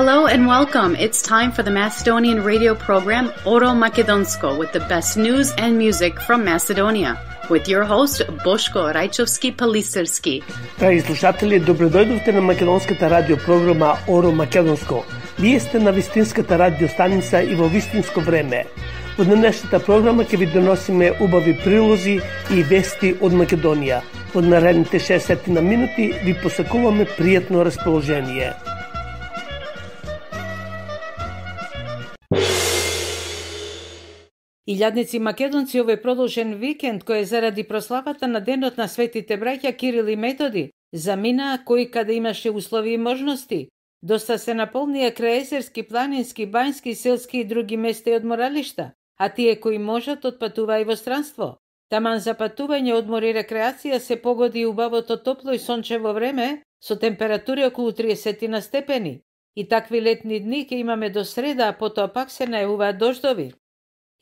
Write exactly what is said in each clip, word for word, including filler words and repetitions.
Hello and welcome. It's time for the Macedonian radio program Oro Makedonsko with the best news and music from Macedonia. With your host, Boško Rajčovski-Palisarski. Драги слушатели, добредојдовте на македонската радио програма Оро Македонско. Вие сте на вистинската радио станица и во вистинско време. Во денешната програма ќе ви доносиме убави прилози и вести од Македонија. Во наредните шесет на минути ви посакуваме пријатно расположение. Илјадници македонци овој продолжен викенд, кој е заради прославата на денот на светите браќа Кирил и Методи, замина кој каде имаше услови и можности. Доста се наполнија крајезерски, планински, бањски, селски и други места и одморалишта, а тие кои можат отпатува и во странство. Таман за патување, одмор и рекреација се погоди убавото топло и сончево време со температури околу триесет на степени. И такви летни дни ќе имаме до среда, а потоа пак се најавуваат дождови.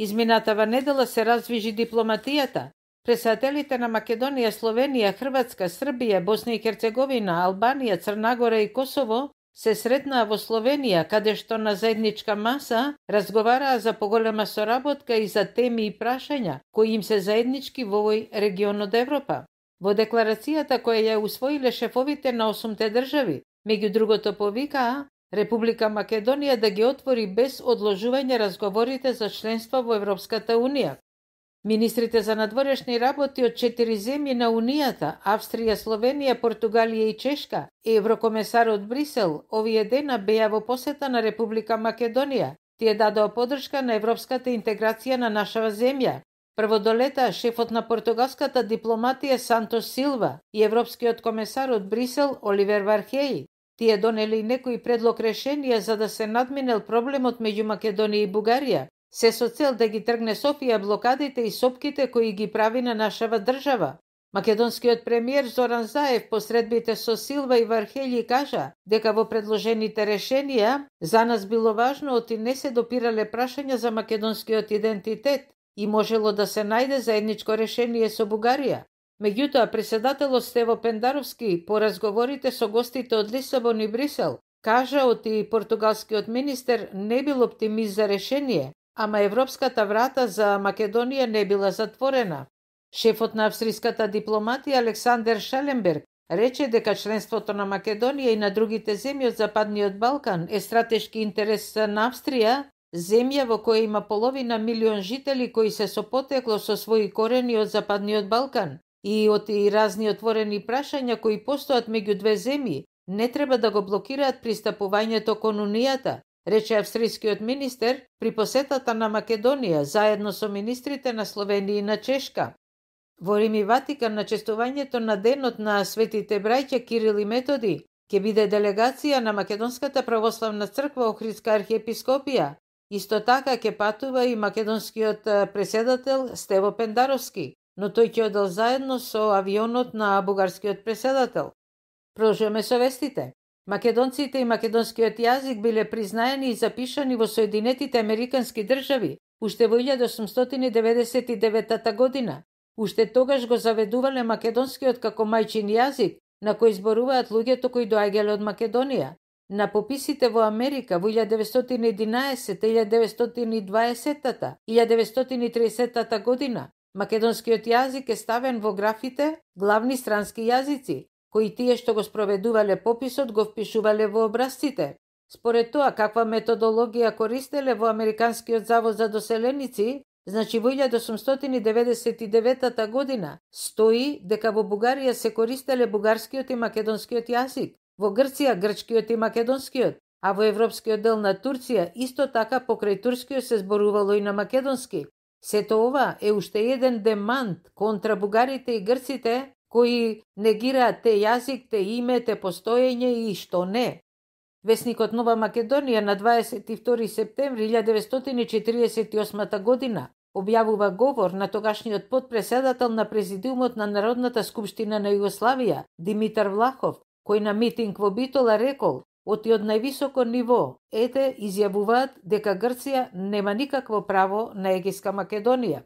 Изминатава недела се раздвижи дипломатијата. Председателите на Македонија, Словенија, Хрватска, Србија, Босна и Херцеговина, Албанија, Црна Гора и Косово се сретнаа во Словенија, каде што на заедничка маса разговараа за поголема соработка и за теми и прашања кои им се заеднички во овој регион од Европа. Во декларацијата која ја усвоиле шефовите на осумте држави, меѓу другото повикаа Република Македонија да ги отвори без одложување разговорите за членство во Европската Унија. Министрите за надворешни работи од четири земји на Унијата, Австрија, Словенија, Португалија и Чешка, и еврокомесарот Брисел, овие дена беа во посета на Република Македонија. Тие дадоа подршка на европската интеграција на нашава земја. Прво долета шефот на португалската дипломатија Сантос Силва и европскиот комесар од Брисел Оливер Вархеј. Тие донели некои предлог решенија за да се надминел проблемот меѓу Македонија и Бугарија, се со цел да ги тргне Софија блокадите и сопките кои ги прави на нашава држава. Македонскиот премиер Зоран Заев посредбите со Силва и Вархеји кажа дека во предложените решенија за нас било важно оти не се допирале прашања за македонскиот идентитет и можело да се најде заедничко решение со Бугарија. Меѓутоа, председателот Стево Пендаровски по разговорите со гостите од Лисабон и Брисел кажа оти португалскиот министер не бил оптимист за решение, ама европската врата за Македонија не била затворена. Шефот на австриската дипломатија Александер Шаленберг рече дека членството на Македонија и на другите земји од Западниот Балкан е стратешки интерес на Австрија, земја во која има половина милион жители кои се со потекло со своји корени од Западниот Балкан. И од и разни отворени прашања кои постојат меѓу две земји, не треба да го блокираат пристапувањето кон Унијата, рече австрискиот министер при посетата на Македонија заедно со министрите на Словенија и на Чешка. Во Рим и Ватикан на честувањето на денот на светите браќа Кирил и Методи ќе биде делегација на Македонската православна црква Охридска архиепископија. Исто така ќе патува и македонскиот преседател Стево Пендаровски, но тој ќе одел заедно со авионот на бугарскиот преседател. Продолжуваме со вестите. Македонците и македонскиот јазик биле признаени и запишани во Соединетите Американски држави уште во илјада осумстотини деветдесет и девета година. Уште тогаш го заведувале македонскиот како мајчин јазик, на кој зборуваат луѓето кои доаѓале од Македонија. На пописите во Америка во илјада деветстотини и единаесетта, илјада деветстотини и дваесетта, илјада деветстотини и тридесетта година македонскиот јазик е ставен во графите главни странски јазици, кои тие што го спроведувале пописот го впишувале во образците. Според тоа каква методологија користеле во Американскиот завод за доселеници, значи во илјада осумстотини деветдесет и девета година стои дека во Бугарија се користеле бугарскиот и македонскиот јазик, во Грција грчкиот и македонскиот, а во европскиот дел на Турција исто така покрај турскиот се зборувало и на македонски. Сето ова е уште еден демант контра бугарите и грците кои негираат те јазик, те име, те постоење и што не. Весникот Нова Македонија на дваесет и втори септември илјада деветстотини и четиридесет и осма година објавува говор на тогашниот потпреседател на Президиумот на Народната скупштина на Југославија Димитар Влахов, кој на митинг во Битола рекол: оти од највисоко ниво, ете, изјавуваат дека Грција нема никакво право на Егејска Македонија.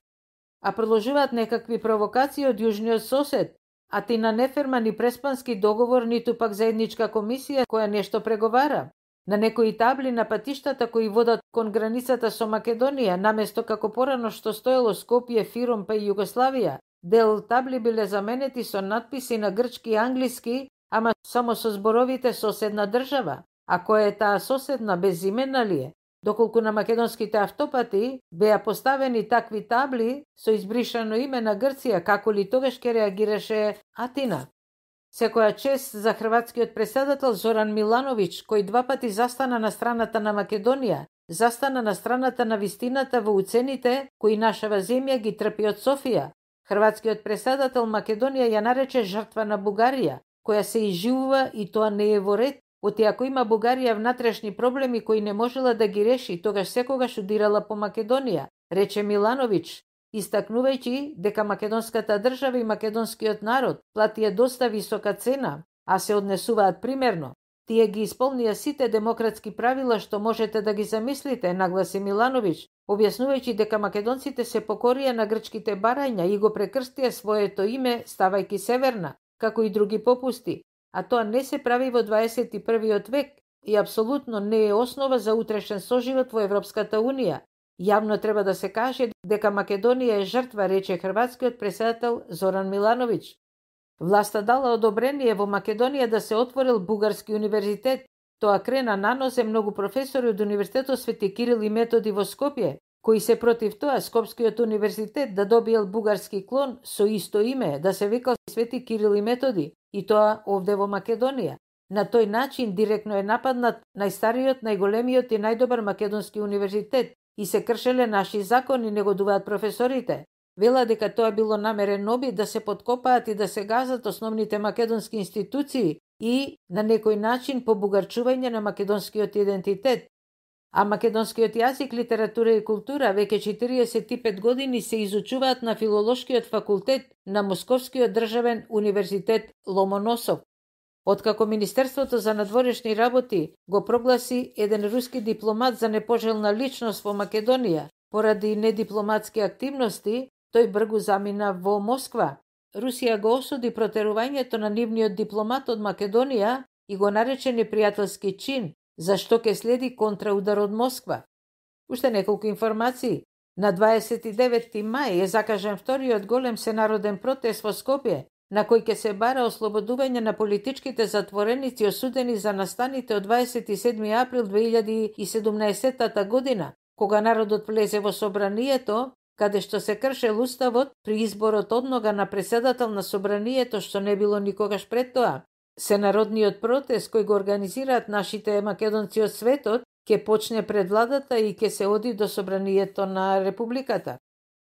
А продолжуваат некакви провокации од јужниот сосед, а ти на неферман и преспански договор, ниту пак заедничка комисија која нешто преговара. На некои табли на патиштата кои водат кон границата со Македонија, наместо како порано што стоело Скопје, Фиром па и Југославија, дел табли биле заменети со надписи на грчки и англиски, ама само со зборовите соседна држава. А која е таа соседна, безименна ли е? Доколку на македонските автопати беа поставени такви табли со избришано име на Грција, како ли тогаш ке реагираше Атина? Секоја чест за хрватскиот претседател Зоран Милановиќ, кој два пати застана на страната на Македонија, застана на страната на вистината во уцените кои нашава земја ги трпи од Софија. Хрватскиот претседател Македонија ја нарече жртва на Бугарија, која се изживува и тоа не е во ред, оти ако има Бугарија внатрешни проблеми кои не можела да ги реши, тогаш секогаш удирала по Македонија, рече Милановиќ, истакнувајќи дека македонската држава и македонскиот народ платија доста висока цена, а се однесуваат примерно. Тие ги исполнија сите демократски правила што можете да ги замислите, нагласи Милановиќ, објаснувајќи дека македонците се покорија на грчките барања и го прекрстија своето име ставајќи Северна, како и други попусти, а тоа не се прави во дваесет и првиот век и апсолутно не е основа за утрешен соживот во Европската Унија. Јавно треба да се каже дека Македонија е жртва, рече хрватскиот претседател Зоран Милановиќ. Власта дала одобрение во Македонија да се отворил бугарски универзитет. Тоа крена нанозе многу професори од Универзитетот Свети Кирил и Методи во Скопје, кои се против тоа Скопскиот универзитет да добиел бугарски клон со исто име, да се викал Свети Кирил и Методи, и тоа овде во Македонија. На тој начин директно е нападнат најстариот, најголемиот и најдобар македонски универзитет и се кршеле наши закони, негодуваат професорите. Вела дека тоа било намерен обид да се подкопаат и да се газат основните македонски институции и на некој начин побугарчување на македонскиот идентитет. А македонскиот јазик, литература и култура веќе четириесет и пет години се изучуваат на Филолошкиот факултет на Московскиот државен универзитет Ломоносов. Откако Министерството за надворешни работи го прогласи еден руски дипломат за непожелна личност во Македонија поради недипломатски активности, тој бргу замина во Москва. Русија го осуди протерувањето на нивниот дипломат од Македонија и го нарече непријателски чин, зашто ќе следи контраудар од Москва. Уште неколку информации. На дваесет и деветти мај е закажан вториот голем сенароден протест во Скопје, на кој ќе се бара ослободување на политичките затвореници осудени за настаните од дваесет и седми април две илјади и седумнаесетта година, кога народот влезе во собранието, каде што се кршел уставот при изборот однога на претседател на собранието што не било никогаш пред тоа. Сенародниот протест кој го организираат нашите македонци од светот ќе почне пред владата и ќе се оди до собранието на републиката.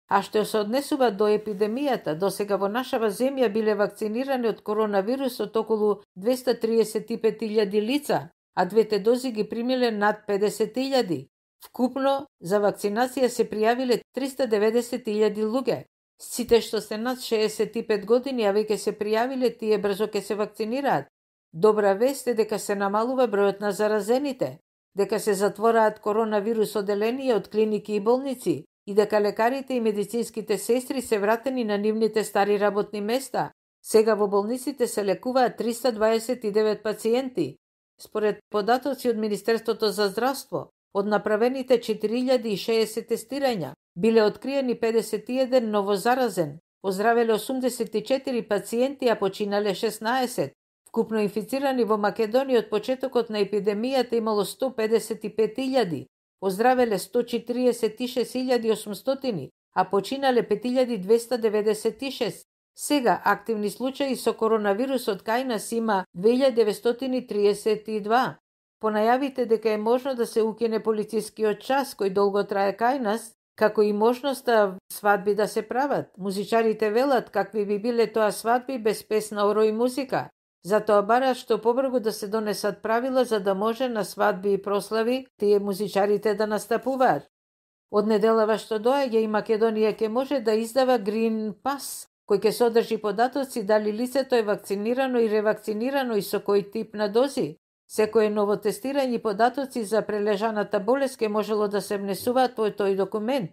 А што се однесува до епидемијата, досега во нашава земја биле вакцинирани од коронавирусот околу двеста триесет и пет илјади лица, а двете дози ги примиле над педесет илјади. Вкупно за вакцинација се пријавиле триста деветдесет илјади луѓе. Сите што се над шеесет и пет години, а веќе се пријавиле, тие брзо ќе се вакцинираат. Добра вест е дека се намалува бројот на заразените, дека се затвораат коронавирус оделенија од клиники и болници и дека лекарите и медицинските сестри се вратени на нивните стари работни места. Сега во болниците се лекуваат триста дваесет и девет пациенти. Според податоци од Министерството за здравство, од направените четири илјади и шеесет тестирања, биле откриени педесет и еден новозаразен, оздравеле осумдесет и четири пациенти, а починале шеснаесет. Вкупно инфицирани во Македонија од почетокот на епидемијата имало сто педесет и пет илјади, оздравеле сто четиридесет и шест илјади и осумстотини, а починале пет илјади двеста деветдесет и шест. Сега активни случаи со коронавирусот кај нас има две илјади деветстотини триесет и два. По најавите дека е можно да се укине полицискиот час кој долго трае кај нас, како и можноста свадби да се прават. Музичарите велат какви би биле тоа свадби без песна, оро и музика. Затоа бараат што побрзо да се донесат правила за да може на свадби и прослави тие музичарите да настапуваат. Од неделава што доаѓа и Македонија ќе може да издава Green Pass, кој ќе содржи податоци дали лицето е вакцинирано и ревакцинирано и со кој тип на дози. Секое ново тестирање и податоци за прележаната болест ќе можело да се внесуваат во тој документ.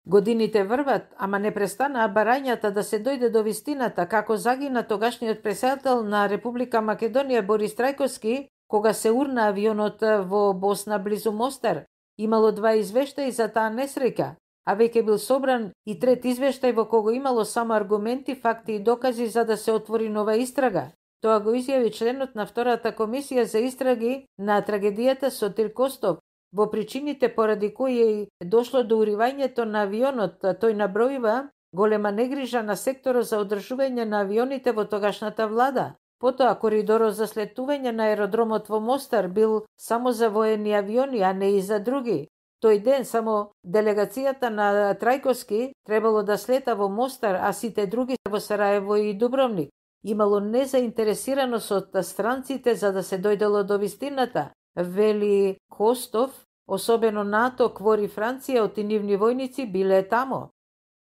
Годините врват, ама не престанаа барањата да се дојде до вистината како загина тогашниот претседател на Република Македонија Борис Трајковски кога се урна авионот во Босна близу Мостар. Имало два извештаи за таа несреќа, а веќе бил собран и трет извештај во кого имало само аргументи, факти и докази за да се отвори нова истрага. Тоа го изјави членот на втората комисија за истраги на трагедијата Сотир Костов. Во причините поради кои дошло до уривањето на авионот, тој набројува голема негрижа на секторот за одржување на авионите во тогашната влада. Потоа, коридорот за слетување на аеродромот во Мостар бил само за воени авиони, а не и за други. Тој ден само делегацијата на Трајковски требало да слета во Мостар, а сите други во Сараево и Дубровник. Имало незаинтересираност од странците за да се дојдело до вистината, вели Костов, особено НАТО, Квор и Франција, од нивни војници биле тамо.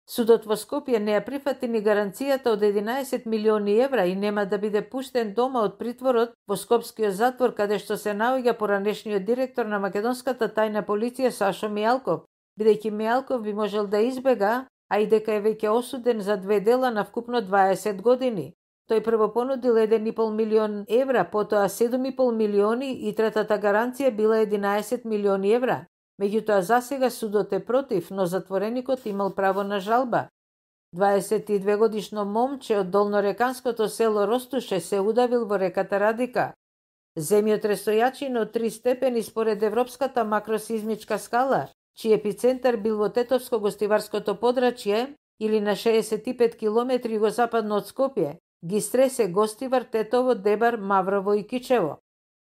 Судот во Скопје не ја прифати ни гаранцијата од единаесет милиони евра и нема да биде пуштен дома од притворот во Скопскиот затвор, каде што се наоѓа поранешниот директор на македонската тајна полиција Сашо Мијалков, бидејќи Мијалков би можел да избега, а и дека е веќе осуден за две дела на вкупно дваесет години. Тој прво понудил еден и пол милион евра, потоа седум и пол милиони и третата гаранција била единаесет милиони евра. Меѓутоа, засега судот е против, но затвореникот имал право на жалба. дваесет и две годишно момче од долнореканското село Ростуше се удавил во реката Радика. Земјотрестојачина од три степени според Европската макросизмичка скала, чиј епицентар бил во Тетовско-гостиварското подрачје или на шеесет и пет километри југозападно од Скопје, ги стресе Гостивар, Тетово, Дебар, Маврово и Кичево.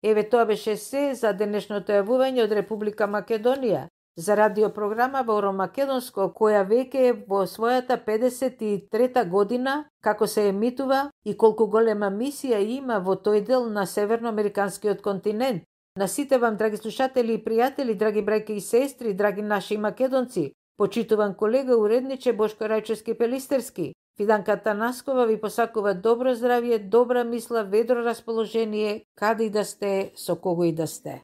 Еве тоа беше се за денешното јавување од Република Македонија за радиопрограма во Оро Македонско, која веќе е во својата педесет и трета година како се емитува и колку голема мисија има во тој дел на северноамериканскиот континент. На сите вам, драги слушатели и пријатели, драги браќа и сестри, драги наши македонци, почитуван колега уредниче Бошко Рајчовски Пелистерски, Фиданка Танаскова ви посакува добро здравје, добра мисла, ведро расположение, каде и да сте, со кого и да сте.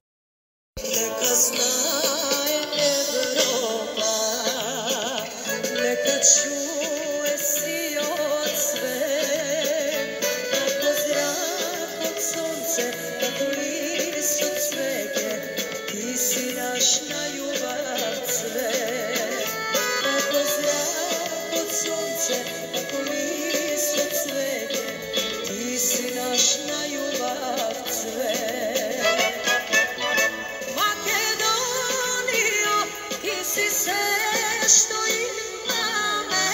Нека знае Европа, нека чуе сиот свет, како зрак од сонце, како лист од цвеќе, ти си наш најубав цвет, како зрак од сонце, како лист од цвеќе, ти си наш најубав цвет. Македонијо, ти си се што имаме,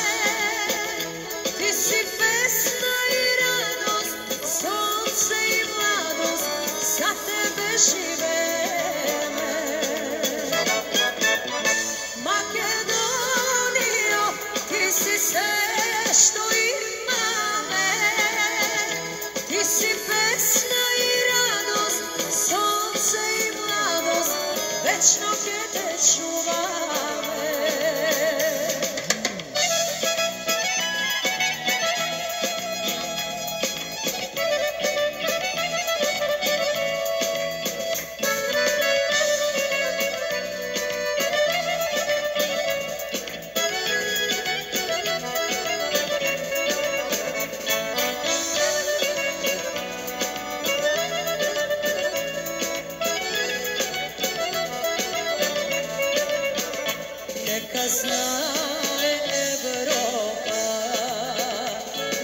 ти си песна и радост, сонце и младост, за тебе живееме. Македонијо, ти си се што имаме, ти си песна и радост, сонце и младост, вечно ќе те чуваме. Нека знае Европа,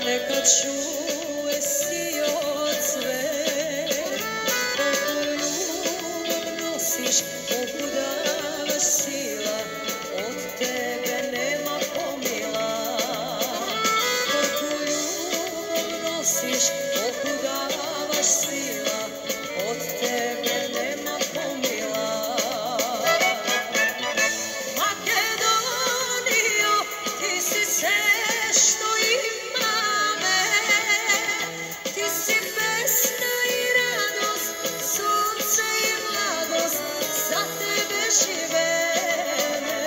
нека чуе сиот свет, колку љубов носиш, колку даваш сила, од тебе нема помила. Колку љубов носиш, колку даваш сила, од тебе нема помила. Македонијо, ти си се што имаме, ти си песна и радост, сонце и младост, за тебе живееме.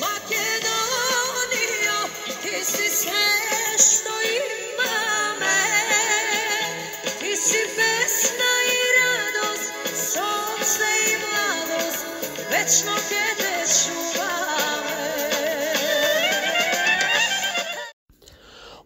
Македонијо, ти си се што имаме, ти си песна и радост, сонце и младост, вечно ќе те чуваме.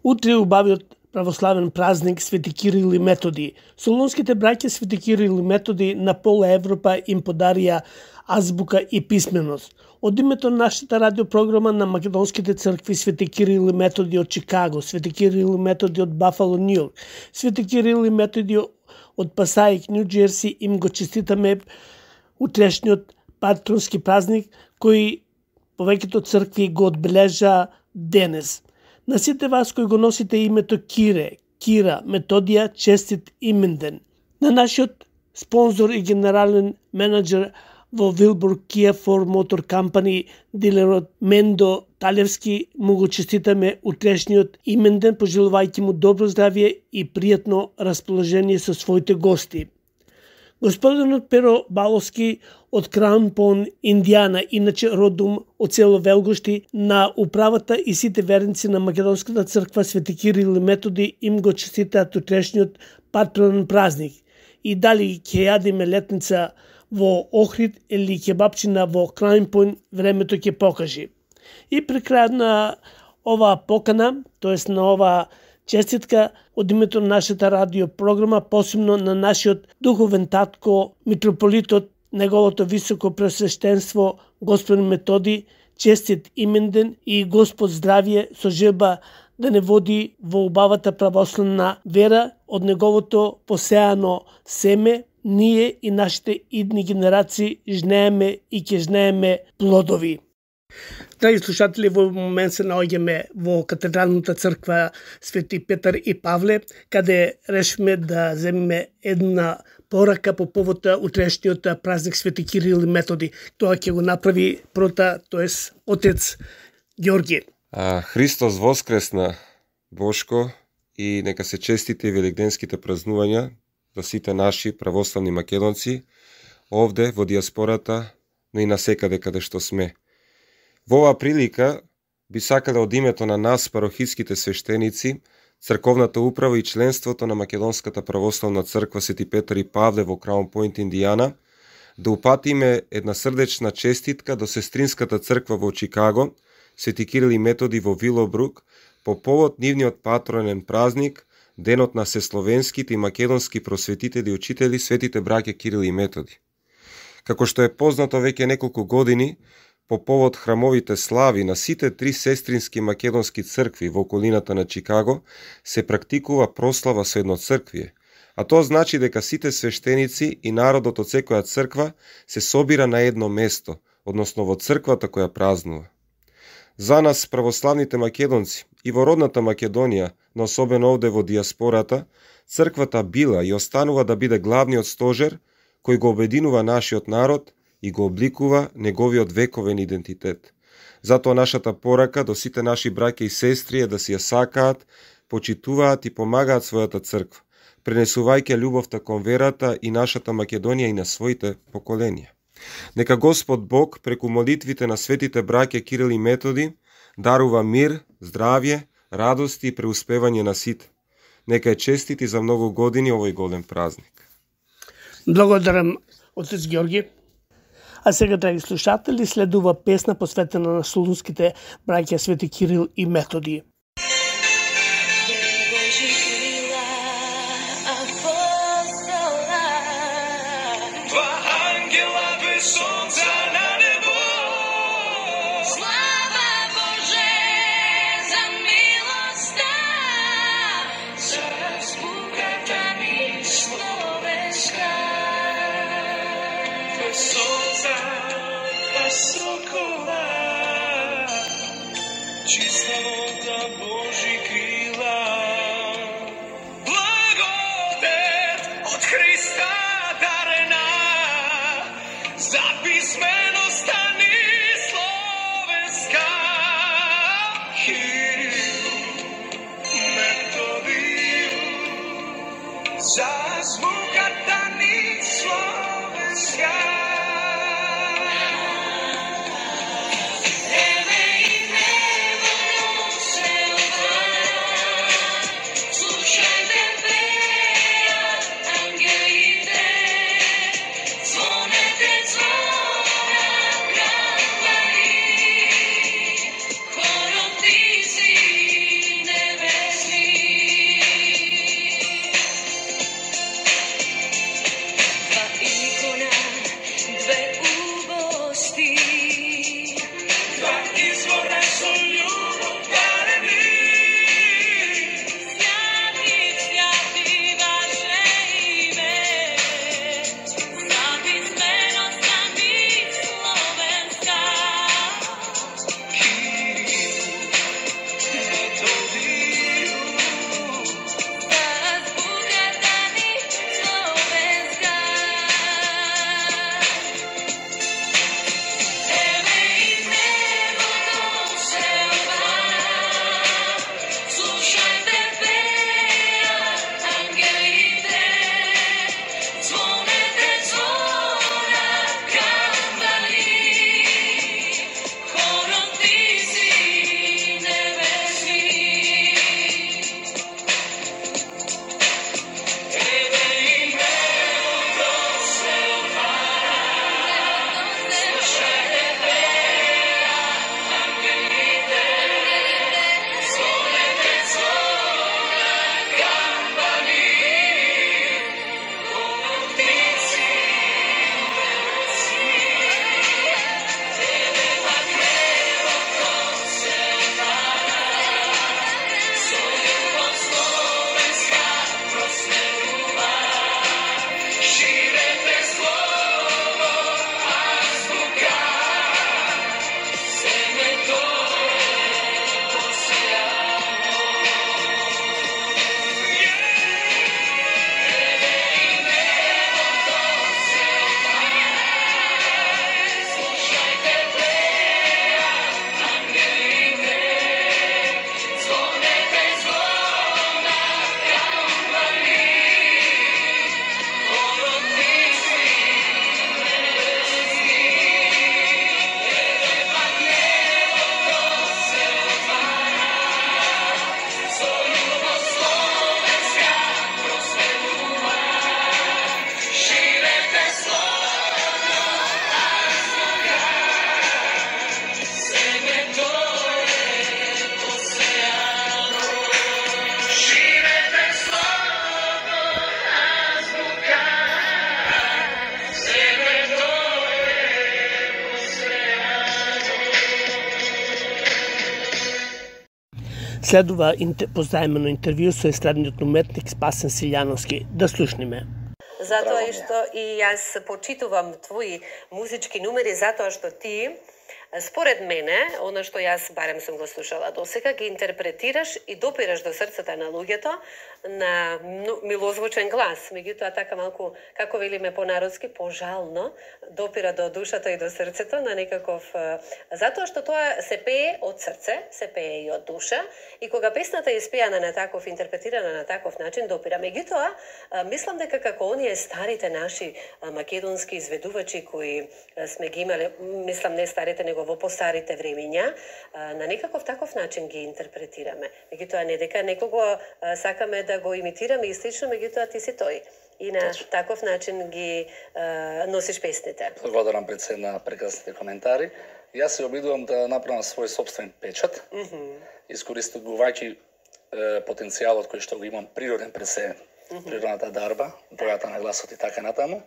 Утре убавиот православен празник Свети Кирил и Методи. Солунските браќа Свети Кирил и Методи на пола Европа им подарија азбука и писменост. Од името на нашата радиопрограма на македонските цркви Свети Кирил и Методи од Чикаго, Свети Кирил и Методи од Бафало, Нью Йорк, Свети Кирил и Методи од Пасаик, Нью Джерси, им го честитаме утрешниот патронски празник кој повеќето цркви го одбележа денес. На сите вас кои го носите името Кире, Кира, Методија, честит именден. На нашиот спонзор и генерален менеджер во Вилбург Kia Ford Motor Company, дилерот Мендо Талевски, му го честитаме утрешниот именден, пожелувајќи му добро здравје и пријатно расположение со своите гости. Господинот Перо Баловски од Краун Пон, Индијана, иначе родом од село Велгошти, на управата и сите верници на Македонската црква Свети Кирил и Методи им го честитаат утрешниот патронен празник. И дали ќе јадиме летница во Охрид или кебапчина во Краун Пон, времето ќе покажи. И при крајот на оваа покана, тоест на оваа честитка, од името на нашата радиопрограма, посебно на нашиот духовен татко, митрополитот, неговото високо пресвещенство, Господин Методи, честит именден и Господ здравје со желба да не води во убавата православна вера од неговото посеано семе, ние и нашите идни генерации жнееме и ќе жнееме плодови. Драги слушатели, во момент се наоѓаме во катедралната црква Свети Петар и Павле, каде решиме да земеме една порака по повод утрешниот празник Свети Кирил и Методи. Тоа ќе го направи прота, тоест отец Ѓорги. А, Христос воскресна, Бошко, и нека се честите великденските празнувања за сите наши православни македонци, овде во диаспората, но и насекаде каде што сме. Во оваа прилика би сакале од името на нас, парохиските свештеници, црковната управа и членството на Македонската православна црква Свети Петар и Павле во Краун Пойнт, Индијана, да упатиме една срдечна честитка до сестринската црква во Чикаго, Свети Кирил и Методи во Вилобрук, по повод нивниот патронен празник, денот на сесловенските и македонски просветители и учители, светите браќа Кирил и Методи. Како што е познато веќе неколку години, по повод храмовите слави на сите три сестрински македонски цркви во околината на Чикаго, се практикува прослава со едно црквие, а тоа значи дека сите свештеници и народот од секоја црква се собира на едно место, односно во црквата која празнува. За нас, православните македонци, и во родната Македонија, но особено овде во диаспората, црквата била и останува да биде главниот стожер кој го обединува нашиот народ и го обликува неговиот вековен идентитет. Затоа нашата порака до сите наши браќа и сестри е да си ја сакаат, почитуваат и помагаат својата црква, пренесувајќи љубовта кон верата и нашата Македонија и на своите поколенија. Нека Господ Бог преку молитвите на светите браќа Кирил и Методи дарува мир, здравје, радост и преуспевање на сите. Нека е честити за многу години овој голем празник. Благодарам, отец Ѓорги. А сега, драги слушатели, следува песна посветена на солунските браќа Свети Кирил и Методи. Следува позаемено интервју со естрадниот уметник Спасен Силјановски. Да слушниме. Затоа и што и јас почитувам твои музички numери, затоа што ти, според мене, она што јас барем сум го слушала досега, ги интерпретираш и допираш до срцата на луѓето на милозвучен глас. Меѓутоа така малку, како велиме понародски, пожално, допира до душата и до срцето на некаков... Затоа што тоа се пее од срце, се пее и од душа, и кога песната е испејана на таков, интерпретирана на таков начин, допира. Меѓутоа, мислам дека како оние старите наши македонски изведувачи кои сме ги имале, мислам не старите, него во постарите времиња, на некаков таков начин ги интерпретираме. Меѓутоа не дека некого сакаме да го имитираме и слично, меѓутоа ти си тој. И на Точно. Таков начин ги а, носиш песните. Благодарам пред се на прекрасните коментари. Јас се обидувам да направам свој собствен печат, mm -hmm. искористувајќи потенцијалот кој што го имам природен пред се, mm -hmm. природната дарба, бојата на гласот и така натаму.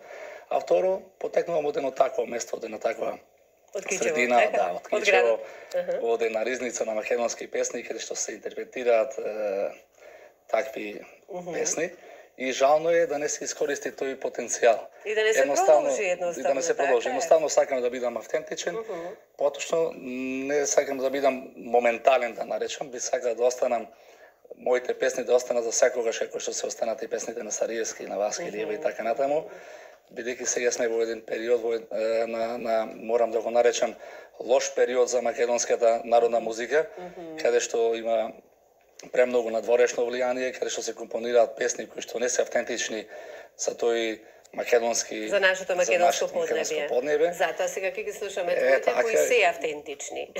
А второ, потекнувам од едно такво место, од една таква средина, така? Да, од Кичево, uh-huh. од една ризница на македонски песни, каде што се интерпретираат е, такви uh-huh. песни. И жално е да не се искористи тој потенцијал. И да не се продолжи едноставно. И да не се продолжи. Така едноставно сакам да бидам автентичен, uh-huh. поточно не сакам да бидам моментален, да наречам, би сакал да останам моите песни да останат за секогаш, како што се останат и песните на Сариевски, на Васки uh-huh. Лиева и така натаму. Бидејќи сега сме во еден период во, е, на, на, морам да го наречам, лош период за македонската народна музика, mm-hmm. каде што има премногу надворешно влијание, каде што се компонираат песни кои што не се автентични за тој македонски... За нашето македонско, за македонско поднебе. Затоа сега ќе ги слушаме твоите кои се автентични.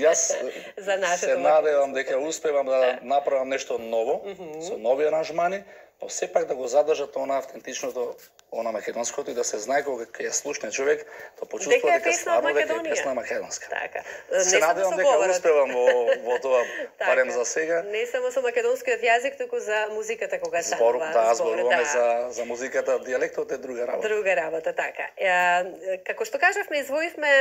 Јас за се надевам дека успевам да направам нешто ново, mm-hmm. со нови аранжмани, но сепак да го задржат она автентичното, она македонското и да се знае кога ќе слушне човек, да почувствува дека стварно дека е песна македонска. Така. Се надевам дека успевам во, во тоа, барем за сега. Не само со македонскиот јазик, туку за музиката кога станува. Да, зборуваме да. за, за музиката, диалектот е друга работа. Друга работа, така. Е, како што кажавме, извоивме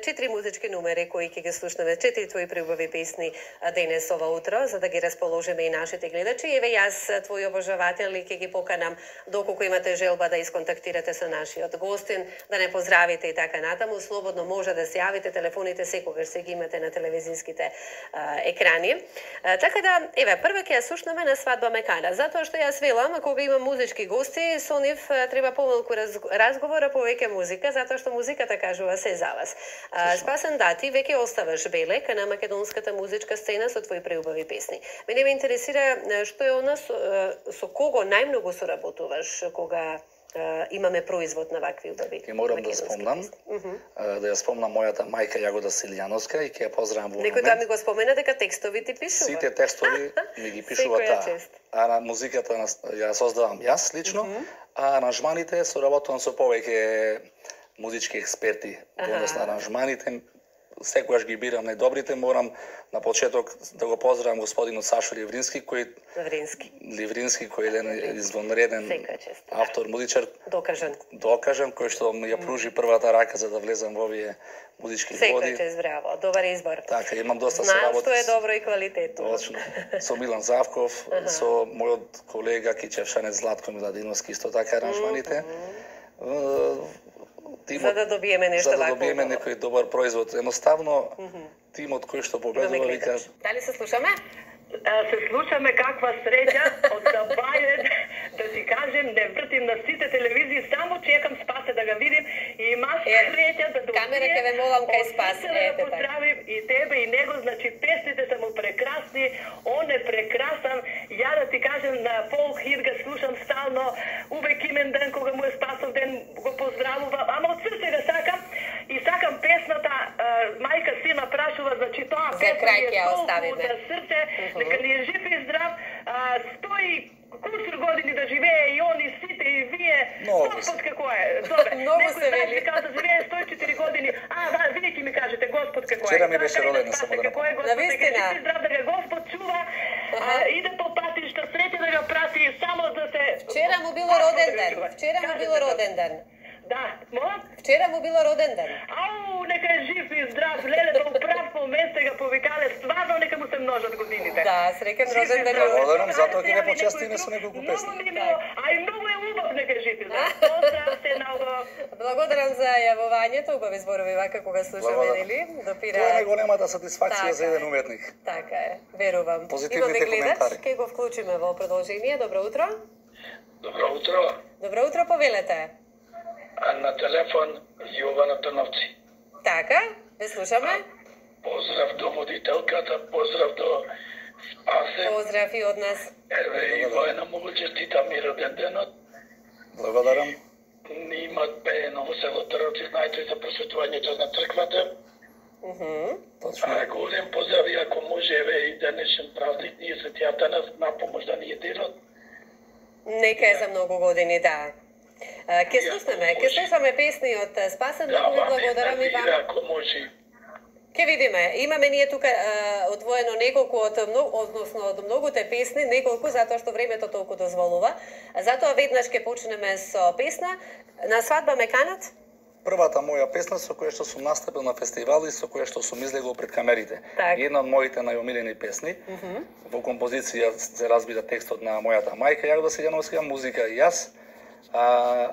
четири музички numери кои ќе ги слушнеме, четири твои преубави песни денес ова утро, за да ги расположиме и нашите гледачи. Еве јас, твои обожаватели, ќе ги поканам доколку имате желба да исконтактирате со нашиот гостин, да не поздравите и така натаму, слободно може да се јавите, телефоните секогаш се ги имате на телевизиските а, екрани. А, така да, еве, прва ќе ја слушнеме на Свадба Мекана, затоа што јас велам, кога имам музички гости, со нив треба помалку раз, разговора, повеќе музика, затоа што музиката кажува се за вас. А, Спасен, да, ти веќе оставаш белек на македонската музичка сцена со твои преубави песни. Мене ме интересира што е она со, со кого најмногу соработуваш кога Uh, имаме производ на вакви убави. И морам да спомнам, uh-huh. uh, да ја спомнам мојата мајка Јагода Силјановска и ќе ја поздравам во момент. Некој да ми го спомена дека текстови ти пишува. Сите текстови ми ги пишува таа. А на музиката ја создавам јас лично, uh-huh. а аранжманите соработувам со повеќе музички експерти. Во однос на аранжманите, секогаш ги бирам најдобрите, морам на почеток да го поздравам господинот Сашо Ливрински, кој Ливрински, Ливрински кој е еден извонреден автор, музичар, докажан. Докажан, кој што ми ја пружи првата рака за да влезам во овие музички води. Секој чест, браво, добар избор. Така, имам доста се работи. Знам што е добро и квалитетно. Точно. Со Милан Завков, со мојот колега Кичевшанец Златко Миладиновски, исто така аранжманите. Тимот, за да добиеме нешто вакво. За да добиеме некој добар производ. Едноставно, mm-hmm. тимот кој што победува вика... Дали се слушаме? Се слушаме, каква среќа од Сабаје, да ти кажем, не вртим на сите телевизии, само чекам Спасе да ga видим и имаш среќа да добие... Камера ке ве молам кај Спасе. Да поздравим и тебе и него, значи песните се му прекрасни, он е прекрасан. Ја да ти кажем, на Пол Хит га слушам стално, увек имен ден кога му е Спасов ден го поздравува, ама од срце го сакам и сакам песната, мајка сина прашува, значи тоа песна е толку за срце, нека ни е жив и здрав, стои кусур години да живее и он и сите и вие. Господ како е? Добре. Многу се вели. Некој да живее сто и четири години. А, да, вие ќе ми кажете Господ како е. Вчера ми беше родена само да напомнам. На вистина. Нека здрав да го Господ чува. Иде по патишта, среќа да го прати само да се... Вчера му било роден ден. Вчера му било роден ден. Да, мога? Вчера му било роден ден. Ау, нека е жив и здрав, леле, во прав момент сега повикале, стварно нека му се множат годините. Да, среќен роден ден. Благодарам, затоа ќе не почестиме со неколку песни. Многу мило, а и многу е убав нека е жив и здрав. Поздрав се много. Благодарам за јавувањето, убави зборови вака кога слушаме, нели? Допира. Тоа е најголемата сатисфакција Така за еден е. уметник. Така е, верувам. Позитивните Имаме гледач, коментари. ќе го вклучиме во продолжение. Добро утро. Добро утро. Добро утро, повелете. А на телефон Јована Трновци. Така, ве слушаме. Поздрав до водителката, поздрав до Спасе. Поздрав и од нас. Еве и воена многу честита ми роден денот. Благодарам. Имат пеено во село Трновци, знаете за просветувањето на црквата. Мгм. Точно. А голем поздрав и ако може еве и денешен празник ние Свети Атанас на помош да ни е денот. Нека е за многу години, да. А, Ке слушнеме, ке слушаме песни од Спасен, Да, многу ви ама благодарам и вам. ако може. Ке видиме, имаме ние тука а, одвоено неколку од многу, односно од многуте песни, неколку затоа што времето толку дозволува. Затоа веднаш ќе почнеме со песна На свадба ме канат. Првата моја песна со која што сум настапил на фестивали, со која што сум излегол пред камерите. Так. Една од моите најомилени песни. Mm -hmm. Во композиција се разбира текстот на мојата мајка Јагода Сијановска, музика и јас, а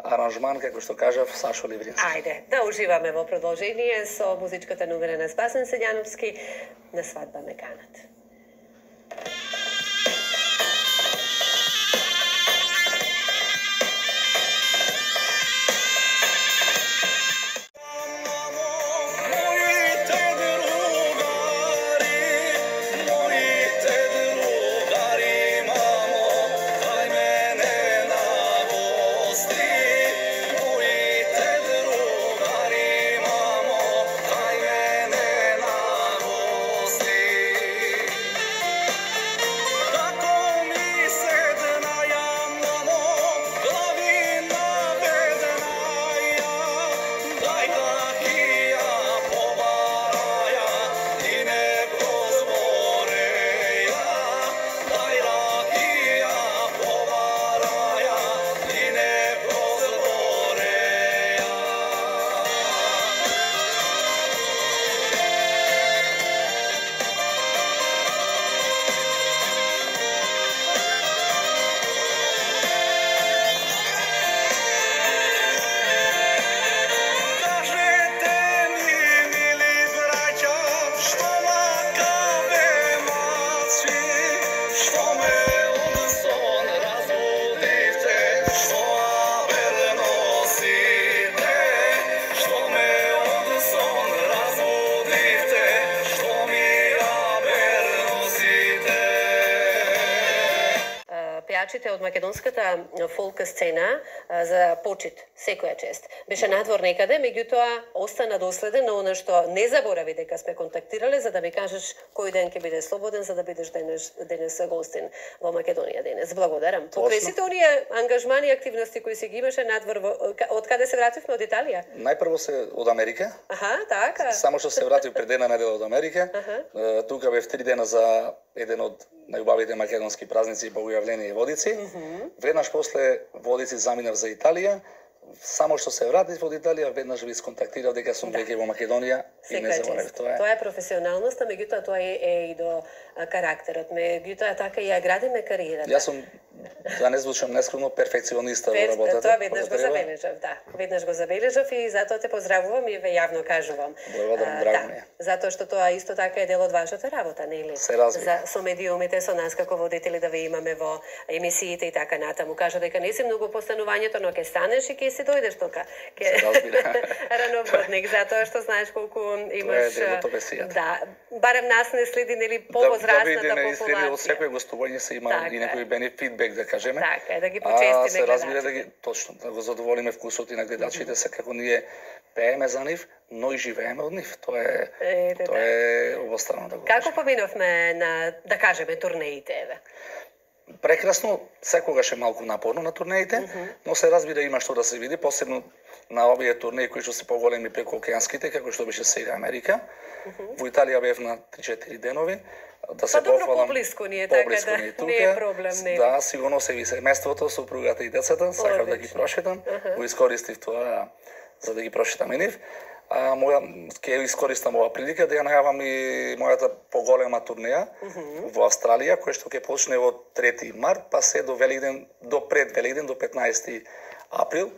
аранжман, како што кажав, Сашо Ливрински. Ајде, да уживаме во продолжение со музичката номера на Спасен Сијановски На свадба ме канат. Пејачите од македонската фолк сцена а, за почит, секоја чест. Беше надвор некаде, меѓутоа остана доследен на она што не заборави дека сме контактирале за да ми кажеш кој ден ќе биде слободен за да бидеш денес денес гостин во Македонија денес. Благодарам. Покрај сите оние ангажмани и активности кои си ги имаше надвор во, од каде се вративме од Италија? Најпрво се од Америка. Аха, така. Само што се вратив пред една недела од Америка. Аха. Тука бев три дена за еден од најубавите македонски празници и Богојавление и Водици. Mm -hmm. Веднаш после Водици заминав за Италија. Само што се вратив од Италија, веднаш ви сконтактирав дека сум веќе во Македонија и не заборавив тоа. Тоа е професионалноста, меѓутоа тоа е, е и до а, карактерот. Меѓутоа така и ја градиме кариерата. Јас сум, да не звучам нескромно, перфекциониста во работата. Тоа веднаш го забележав, да. Веднаш го забележав и затоа те поздравувам и ве јавно кажувам. Благодарам, драго ми е. Затоа што тоа исто така е дел од вашата работа, нели? Се разбира. За со медиумите, со нас како водители да ве имаме во емисиите и така натаму. Кажа дека не си многу постанувањето, но ќе станеш и ќе си дојдеш тука. Ке... Се разбира. Рановодник, затоа што знаеш колку имаш... Тоа е делото да, барем нас не следи, нели, повозрастната да, да популација. Од секој гостување се има така, и некој бенефит фидбек, да кажеме. Така е, да ги почестиме. А се разбира да ги, точно, да го задоволиме вкусот и на гледачите, се како ние пееме за нив, но и живееме од нив. Тоа е, е тоа да. Е обострано да го кажеме. Како поминовме на, да кажеме, турнеите, еве? Прекрасно, секогаш е малку напорно на турнеите, mm -hmm. но се разбира има што да се види, посебно на овие турнеи кои што се поголеми преку океанските, како што беше сега Америка. Mm -hmm. Во Италија бев на три-четири денови, да се па добро пофалам. поблиску ни е, така Поблиску да ни е тука. не е проблем, не. Да, сигурно се ви семејството, супругата и децата, сакав да ги Одлично. прошетам. Аха. Го искористив тоа за да ги прошетам и нив. А моја ќе искористам оваа прилика да ја најавам и мојата поголема турнеја во Австралија, која што ќе почне во трети март, па се до Великден, до пред Великден, до петнаесети април.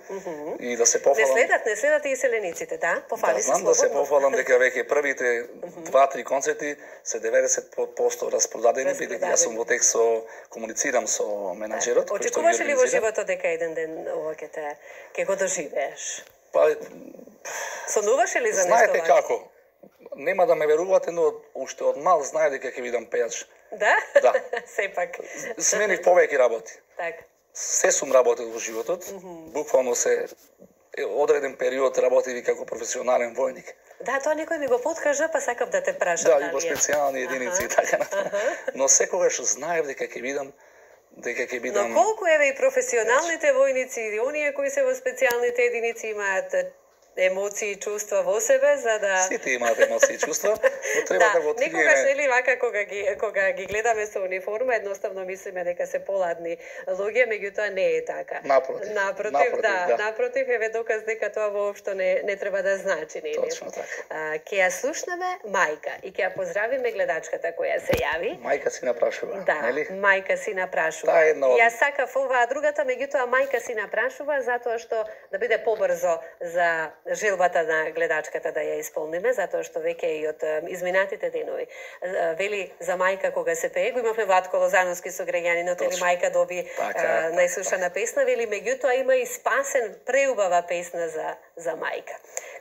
И да се Не пофалам. следат, не следат и селениците, да? Пофали Да, се знам да се слободно. пофалам дека веќе првите два-три концерти се деветдесет проценти распродадени, бидејќи јас сум во текст со комуницирам со менаџерот. кој што ги Очекуваш ли во организира. животот дека еден ден ова ќе те ќе го доживееш? Па, Сонуваш ли за нешто знаете вакво? како? Нема да ме верувате, но уште од мал знае дека ќе бидам пејач. Да? Да. Сепак. Сменив повеќе работи. Така. Се сум работил во животот. Буквално се е, одреден период работив и како професионален војник. Да, тоа некој ми го подкажа, па сакав да те прашам. Да, дали и во е. специјални единици и така натаму. Но секогаш знаев дека ќе бидам дека ќе Но бидам колку еве и професионалните војници и оние кои се во специјалните единици имаат емоции и чувства во себе за да сите имаат емоции и чувства, но треба да, да, го откриеме. некогаш нели вака кога ги кога ги гледаме со униформа, едноставно мислиме дека се поладни луѓе, меѓутоа не е така. Напротив, Напротив, напротив, да, да. напротив еве доказ дека тоа воопшто не не треба да значи, нели? Точно така. А, ќе ја слушнеме мајка и ќе ја поздравиме гледачката која се јави. Мајка си напрашува, Да, нели? мајка си напрашува. Таа е едно од- Јас сакав оваа другата, меѓутоа мајка си напрашува затоа што да биде побрзо за желбата на гледачката да ја исполниме, затоа што веќе и од е, изминатите денови е, вели за мајка кога се пее, го имавме Владко Лозановски со граѓанинот, или Точно. мајка доби Така, е, така. најслушана песна, вели меѓутоа има и спасен преубава песна за за мајка,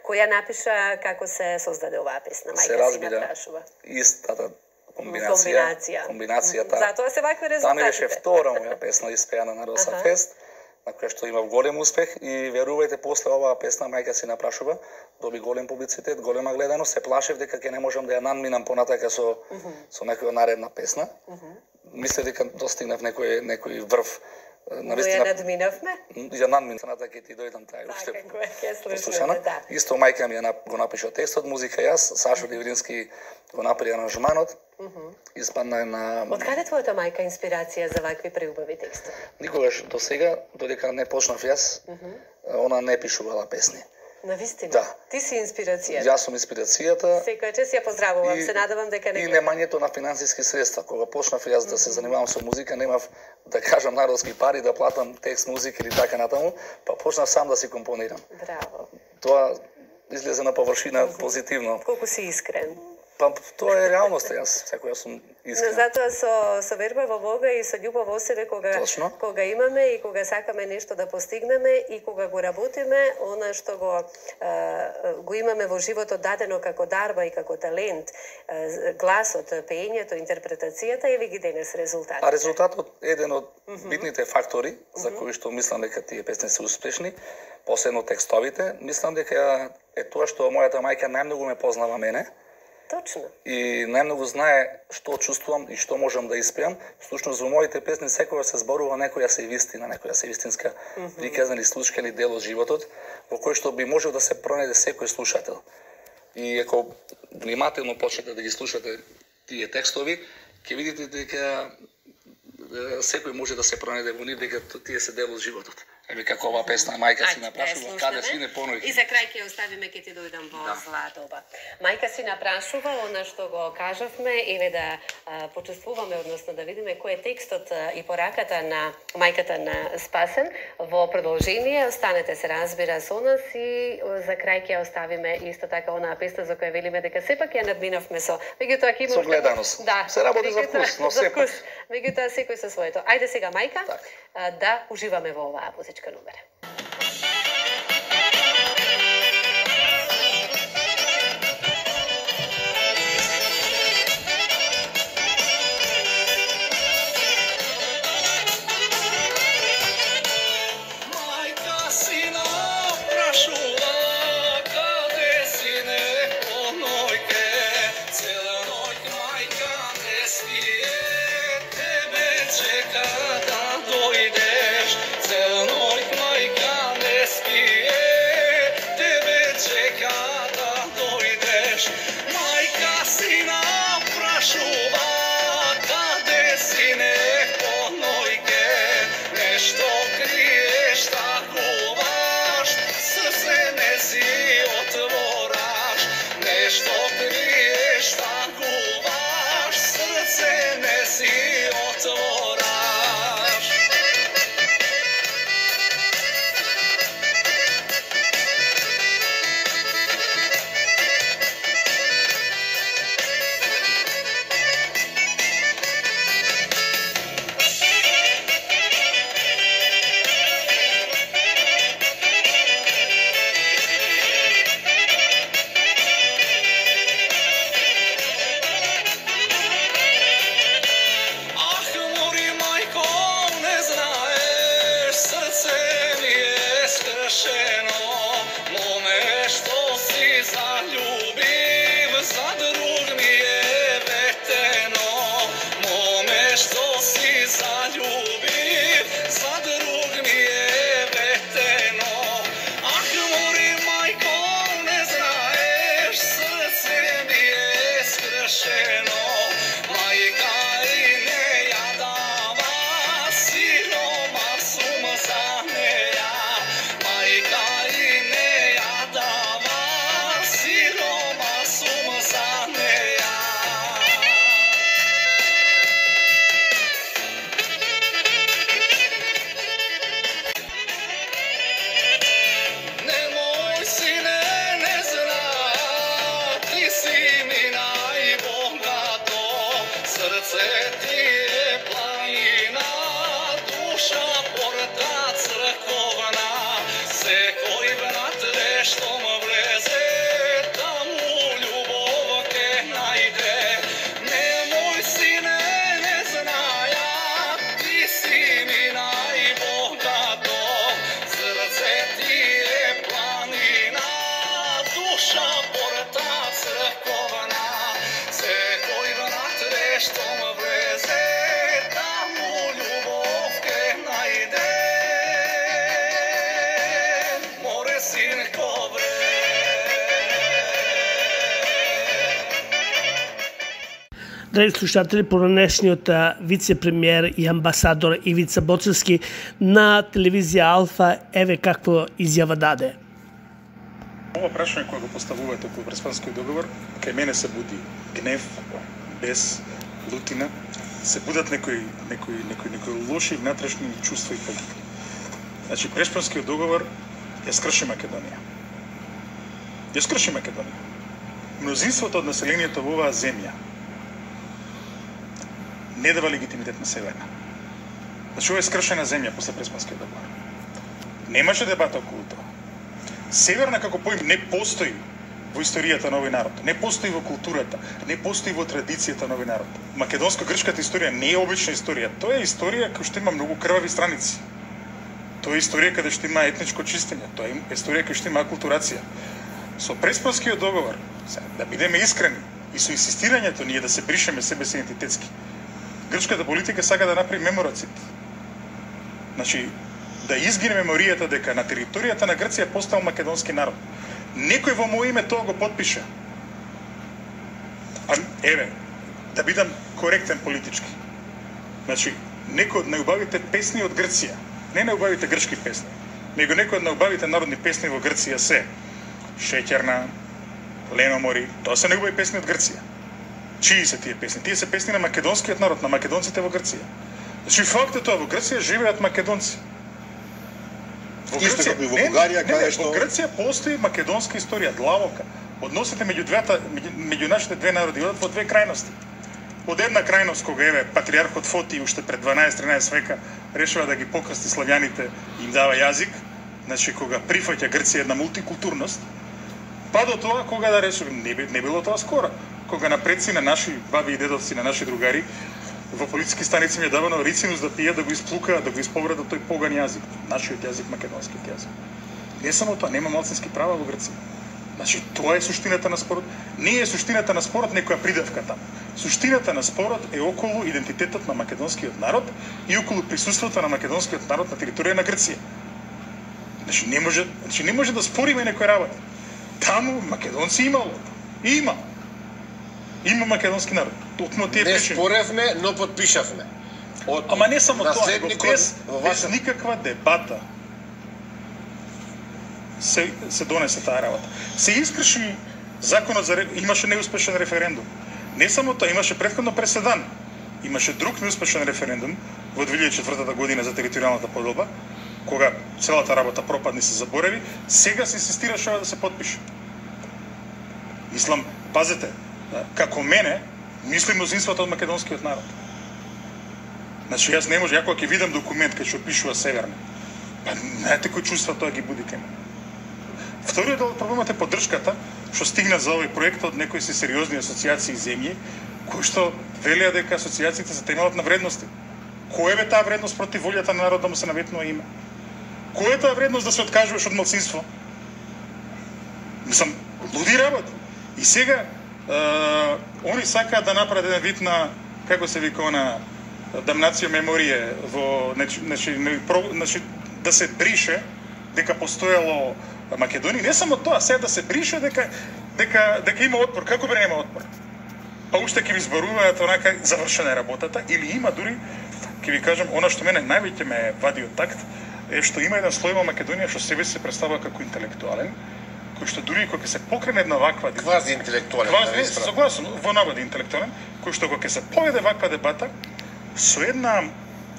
која напиша како се создаде оваа песна. Се Мајка си разбира напрашува. истата комбинација, Комбинација. комбинацијата. Затоа се вакви Таа ми беше резултатите. втора моја песна испеана на Роса Аха. Фест, на која што имав голем успех и верувајте после оваа песна мајка си напрашува, доби голем публицитет, голема гледаност, се плашев дека ќе не можам да ја надминам понатака со со некоја наредна песна. Мислев дека достигнав некој некој врв. Но ја надминавме? ја надминав, на ќе ти дојдам тај уште. Така, која ќе слушнеме, послушана. да. Исто мајка ми ја нап- го напиша текстот, музика јас, Сашо Диврински го направи аранжманот. Испадна на Од каде твојата мајка инспирација за вакви преубави текстови? никогаш до сега, додека не почнав јас, она не пишувала песни. Навистина. Да. Ти си инспирација. Јас сум инспирацијата Секој час ја поздравувам, и- се надевам дека не и гледа. немањето на финансиски средства. Кога почнав јас да се занимавам со музика, немав да кажам народски пари да платам текст, музика или така натаму, па почнав сам да си компонирам. Браво. Тоа излезе на површина позитивно. Колку си искрен. Па тоа е реалноста, јас секоја сум Но искрен. затоа со со верба во Бога и со љубов во себе кога Точно. кога имаме и кога сакаме нешто да постигнеме и кога го работиме, она што го е, го имаме во животот дадено како дарба и како талент, е, гласот, пеењето, интерпретацијата и ги денес резултати. А резултатот е еден од битните фактори за кои што мислам дека тие песни се успешни, посебно текстовите, мислам дека е тоа што мојата мајка најмногу ме познава мене Точно. и најмногу знае што чувствувам и што можам да испеам. Всушност во моите песни секогаш се зборува некоја се вистина, некоја се вистинска приказна или случка или дел од животот, во кој што би можел да се пронајде секој слушател. И ако внимателно почнете да ги слушате тие текстови, ќе видите дека е, секој може да се пронајде во нив дека тие се дел од животот. Еве како оваа песна мајка си Ајде, напрашува, да ја каде слушнеме. си не понојки. И за крај ќе оставиме, ќе ти дојдам во Да. зла доба. Мајка си напрашува, она што го кажавме, еве да а, почувствуваме, односно да видиме кој е текстот а, и пораката на мајката на Спасен. Во продолжение, останете се разбира со нас и о, за крај ќе ја оставиме исто така онаа песна за која велиме дека сепак ја надминавме со. Меѓутоа ќе има Со уште- гледаност. Да. Се работи за меѓутоа- вкус, но за сепак. вкус. Меѓутоа секој со своето. Ајде сега мајка, Така. а, да уживаме во оваа музичка номера. Мајка си напрашува, каде си не понојке, цела ноќ мајка не спие, тебе чека да дојдеш, цела ноќ мајка Драги слушатели, поранешниот вице-премиер и амбасадор Ивица Боцевски на телевизија Алфа, еве какво изјава даде. Ова прашање кое го поставувате околу Преспанскиот договор, кај мене се буди гнев, бес, лутина, се будат некои некои некои некои лоши внатрешни чувства и политики. Значи Преспанскиот договор ја скрши Македонија. Ја скрши Македонија. Мнозинството од населението во оваа земја не дава легитимитет на Северна. Значи ова е скршена земја после Преспанскиот договор. Немаше дебата околу тоа. Северна како поим не постои во историјата на овој народ, не постои во културата, не постои во традицијата на овој народ. Македонско-грчката историја не е обична историја, тоа е историја која што има многу крвави страници. Тоа е историја каде што има етничко чистење, тоа е историја каде што има акултурација. Со Преспанскиот договор, да бидеме искрени, и со инсистирањето ние да се бришеме себе си идентитетски, грчката политика сака да направи мемороцид. Значи, да изгине меморијата дека на територијата на Грција постал македонски народ. Некој во моје име тоа го потпиша. А, еве, да бидам коректен политички. Значи, некој од најубавите песни од Грција, не најубавите грчки песни, него некој од најубавите народни песни во Грција се Шеќерна, Леномори, тоа се негови песни од Грција. Чии се тие песни? Тие се песни на македонскиот народ, на македонците во Грција. Значи фактот тоа во Грција живеат македонци. Во Грција, во Бугарија, каде што во Грција постои македонска историја, длабока. Односите меѓу двете меѓу, меѓу нашите две народи одат во две крајности. Од една крајност кога еве патриархот Фоти уште пред дванаесет-тринаесет века решава да ги покрсти славјаните и им дава јазик, значи кога прифаќа Грција една мултикултурност, па до тоа кога да реши не, не било тоа скоро, кога на предци на наши баби и дедовци, на наши другари во полициски станици ми е давано рицинус да пијат, да го исплукаат, да го исповредат тој поган јазик, нашиот јазик, македонскиот јазик. Не само тоа, нема малцински права во Грција. Значи, тоа е суштината на спорот. Не е суштината на спорот некоја придавка таму. Суштината на спорот е околу идентитетот на македонскиот народ и околу присуството на македонскиот народ на територија на Грција. Значи, не може, значи, не може да спориме некој работа. Таму македонци имало. Има. Има македонски народ. Токму тие не причини. споревме, но подпишавме. Од Ама не само тоа, него без, во без никаква дебата се, се донесе таа работа. Се искрши законот за имаше неуспешен референдум. Не само тоа, имаше претходно преседан. Имаше друг неуспешен референдум во две илјади и четвртата година за територијалната поделба, кога целата работа пропадни се заборави, сега се инсистираше да се потпише. Мислам, пазете, како мене, мисли мнозинството од македонскиот народ. Значи, јас не може, ја кога ќе видам документ кај што пишува Северна, па знаете кој чувства тоа ги буди кај мене. Вториот дел од проблемот е поддршката, што стигна за овој проект од некои си сериозни асоциации и земји, кои што велеа дека асоциациите се темелат на вредности. Која е таа вредност против волјата на народот да му се наветнува име? Која е таа вредност да се откажуваш од малцинство? Мислам, луди работи. И сега, е, они сакаат да направат еден вид на, како се вика она, дамнација меморија во, значи, значи, да се брише дека постоело Македонија. Не само тоа, сега да се брише дека, дека, дека има отпор. Како бе нема отпор? Па уште ќе ви зборуваат онака завршена е работата, или има дури, ќе ви кажам, она што мене највеќе ме вади од такт, е што има еден слој во Македонија што себе се представува како интелектуален, кој што дури кога ќе се покрене една ваква квази интелектуален, квази, согласен, во наводи интелектуален, кој што кога ќе се поведе ваква дебата со една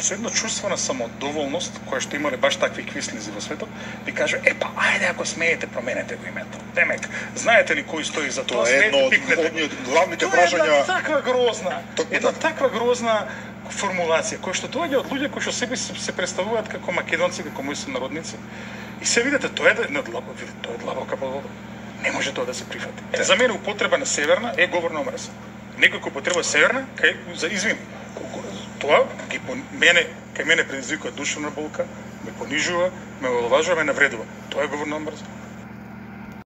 со едно чувство на самодоволност, која што имале баш такви квислизи во светот, ви кажа, е па, ајде ако смеете, променете го името. Демек, знаете ли кој стои за тоа? Тоа е едно од главните прашања. Тоа е една таква грозна, една таква грозна формулација, која што доаѓа од луѓе кои што себе се представуваат како македонци, како мои сонародници. И се видите, тоа е една длабока, видите, тоа е длабока подолба. Не може тоа да се прифати. Е, за мене употреба на Северна е говор на омраза. Некој кој употреба Северна, кај за извин, тоа ги по мене, кај мене предизвикува душевна болка, ме понижува, ме омаловажува, ме навредува. Тоа е говор на омраза.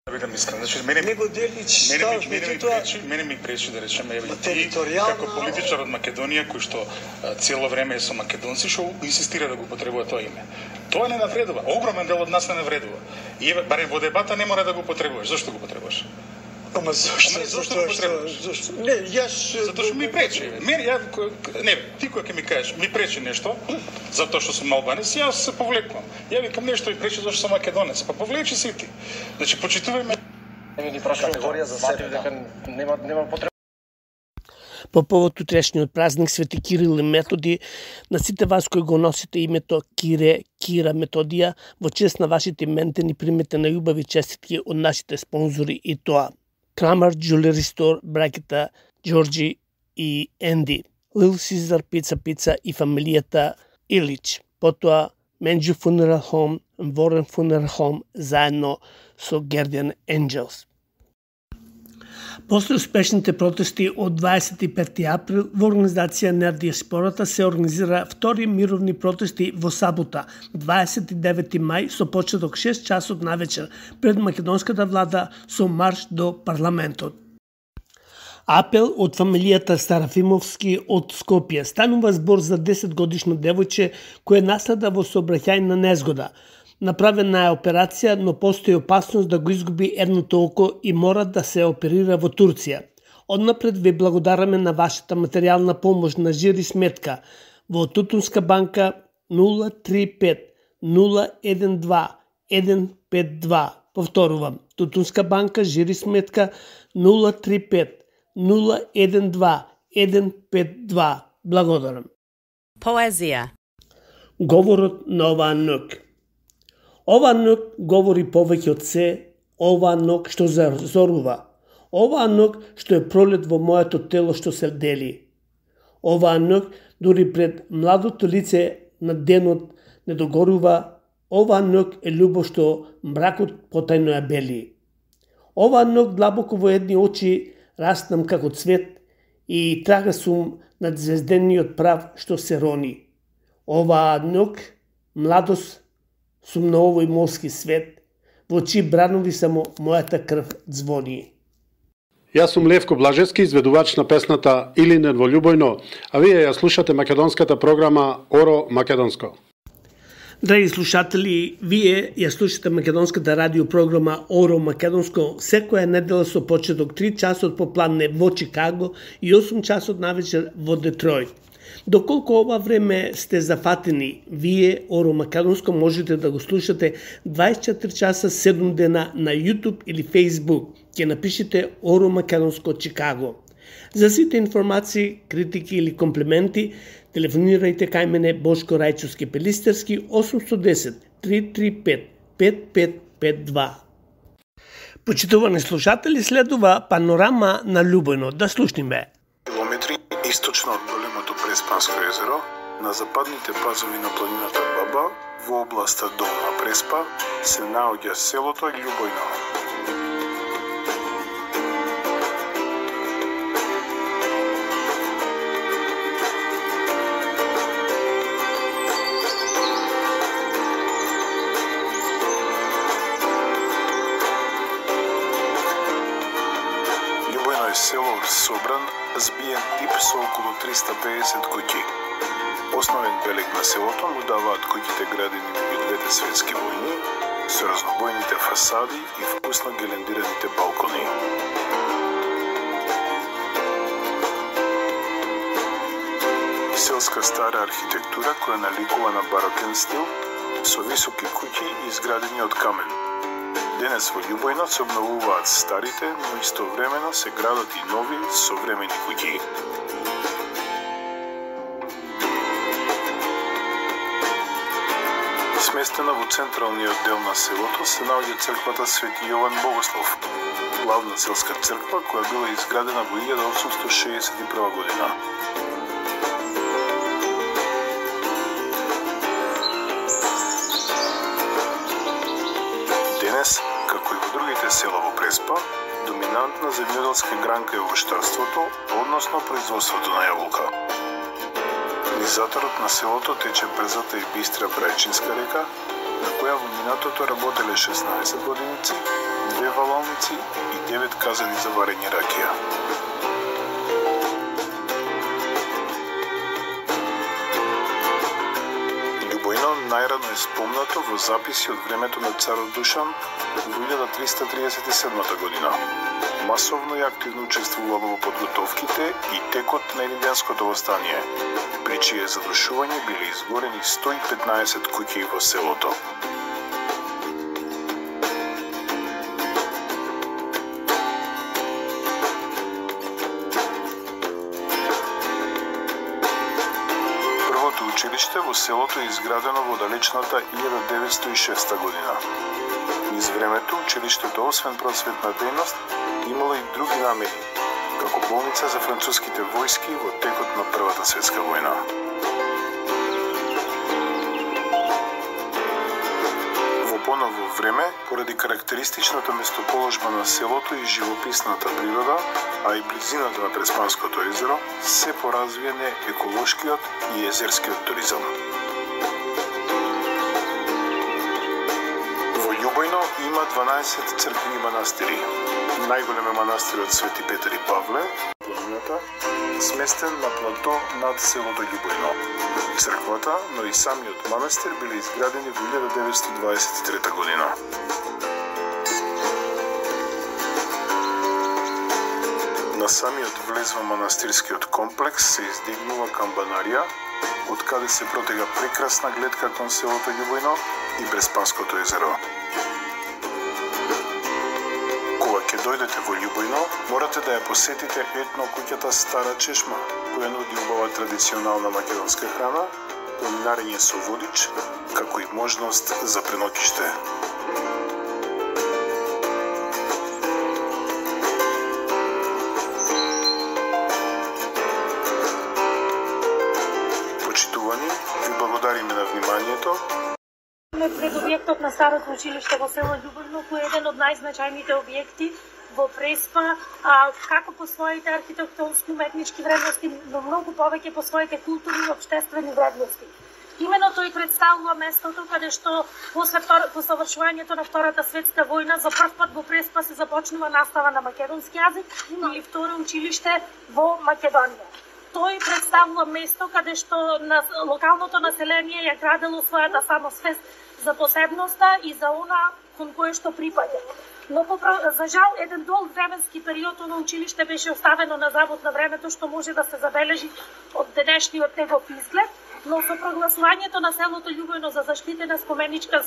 Да бидам искрен, значи мене него делич мене, мене, мене ми пречи, мене ми пречи да речеме еве ти како политичар од Македонија кој што а, цело време е со македонци што инсистира да го употребува тоа име. Тоа не навредува. Огромен дел од нас не навредува. И еве барем во дебата не мора да го употребуваш. Зошто го употребуваш? Ама зашто? Не, зашто го потребуваш? Зашто? Не, јас затоа што ми пречи. Мене ја не, ти кога ќе ми кажеш ми пречи нешто, затоа што сум албанец, јас се повлекувам. Ја викам нешто ми пречи зашто сум македонец. Па повлечи се и ти. Значи почитувај Не ни праша категорија за себе, дека нема нема потреба. По повод утрешниот празник Свети Кирил и Методи, на сите вас кои го носите името Кире, Кира, Методија, во чест на вашите иментени примете на љубави честитки од нашите спонзори и тоа. Крамер Jewelry Store, браќата Ѓорџи и Енди, Little Caesar Pizza Pizza и фамилијата Илич. Потоа Менџу Funeral Home, Ворен Funeral Home, заедно со Guardian Angels. После успешните протести од дваесет и пети април во организација на диаспората се организира втори мировни протести во сабота, дваесет и девети мај, со почеток шест часот навечер пред македонската влада со марш до парламентот. Апел од фамилијата Сарафимовски од Скопје. Станува збор за десет годишно девојче кое наследа во сообраќајна незгода. Направена е операција, но постои опасност да го изгуби едното око и мора да се оперира во Турција. Однапред ви благодараме на вашата материјална помош на жири сметка во Тутунска банка нула три пет нула еден два еден пет два. Повторувам, Тутунска банка жири сметка нула три пет нула еден два еден пет два. Благодарам. Поезија. Говорот на оваа ног. Ова ног говори повеќе од се, ова ног што зазорува, ова ног што е пролет во моето тело што се дели. Ова ног дури пред младото лице на денот не догорува, ова ног е љубов што мракот потајно ја бели. Ова ног длабоко во едни очи раснам како цвет и трага сум над звездениот прав што се рони. Ова ног младост сум на овој морски свет, во чии бранови само мојата крв звони. Јас сум Левко Блажевски, изведувач на песната Илинен во љубојно, а вие ја слушате македонската програма Оро Македонско. Драги слушатели, вие ја слушате македонската радиопрограма Оро Македонско секоја недела со почеток три часот попладне во Чикаго и осум часот навечер во Детројт. Доколку ова време сте зафатени, вие Оро Македонско можете да го слушате дваесет и четири часа седум дена на YouTube или Facebook. Ќе напишете Оро Македонско Чикаго. За сите информации, критики или комплименти, телефонирајте кај мене Бошко Рајчовски Пелистерски осум едно десет три три пет пет пет пет два. Почитувани слушатели, следува панорама на Љубојно. Да слушниме. Километри источно од големото Преспанско езеро, на западните пазови на планината Баба, во областа Долна Преспа, се наоѓа селото Љубојно. Љубојно е село собран, збиен тип со околу триста педесет куќи. Основен белег на селото му даваат куќите градени меѓу двете светски војни, со разнобојните фасади и вкусно гелендираните балкони. Селска стара архитектура која наликува на барокен стил, со високи куќи изградени од камен. Денес во Љубојно се обновуваат старите, но истовремено се градат и нови, современи куќи. Сместена во централниот дел на селото се наоѓа црквата Свети Јован Богослов, главна селска црква која била изградена во илјада осумстотини шеесет и прва година. Денес, како и во другите села во Преспа, доминантна земјоделска гранка е овоштарството, односно производството на јаболка. Низ заторот на селото тече брзата и бистра Брајчинска река, на која во минатото работеле шеснаесет воденици, две валалници и девет казани за варење ракија. Љубојно најрано е спомнато во записи од времето на царот Душан во илјада триста триесет и седма година. масовно и активно учествувало во подготовките и текот на Илинденското востание, при чие задушување биле изгорени сто и петнаесет куќи во селото. Првото училиште во селото е изградено во далечната илјада деветстотини и шеста година. Низ времето, училиштето, освен просветна дејност, имало и други намери, како болница за француските војски во текот на Првата светска војна. Во поново време, поради карактеристичната местоположба на селото и живописната природа, а и близината на Преспанското езеро, се поразвиене еколошкиот и езерскиот туризам. Љубојно има дванаесет цркви и манастири. Најголем е манастирот Свети Петар и Павле, планината, сместен на плато над селото Љубојно. Црквата, но и самиот манастир биле изградени во илјада деветстотини дваесет и трета година. На самиот влез во манастирскиот комплекс се издигнува камбанарија, од каде се протега прекрасна гледка кон селото Љубојно и Преспанското езеро. Кога ќе дојдете во Љубојно, морате да ја посетите етно куќата Стара Чешма, која нуди убава традиционална македонска храна, планинарење со водич, како и можност за преноќиште. Почитувани, ви благодариме на вниманието. Пред објектот на старото училиште во село Љубојно, кој е еден од најзначајните објекти во Преспа, а, како по своите архитектонско-уметнички вредности, но многу повеќе по своите културни и општествени вредности. Имено тој представува местото каде што после, по завршувањето на Втората светска војна за прв пат во Преспа се започнува настава на македонски јазик или второ училиште во Македонија. Тој представува место каде што на локалното население ја градело својата самосвест за посебноста и за она кон кое што припаѓа. Но за жал еден долг временски период на училиште беше оставено на завод на времето, што може да се забележи од денешниот негов изглед, но со прогласувањето на селото Љубојно за заштитена споменичка